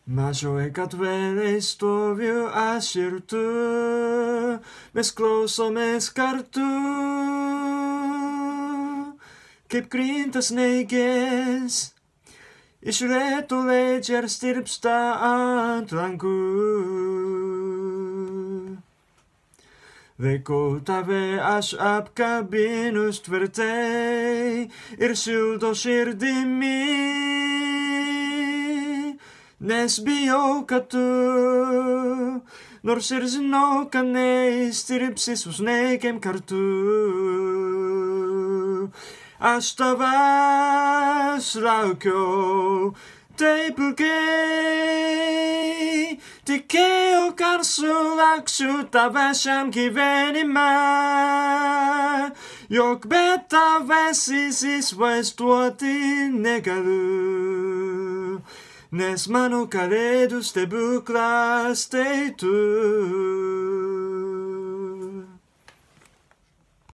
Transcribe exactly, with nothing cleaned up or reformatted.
Mas eu é que atuele estou viu a ser tu, mes close mes cartu, que grintas neges, isreto leger stirpsta antlangu. Vekotave as ap kabinus tverte, irsuldo sirdimi. Nes biokatu, nor sirzno kane stiripsis us nekem kartu. Astavas laukio, teipulke, tikeo karsu laksu tavasham kivenima. Jok beta vesis is vestuoti negalu. Nes mano caredos te buclas te tu.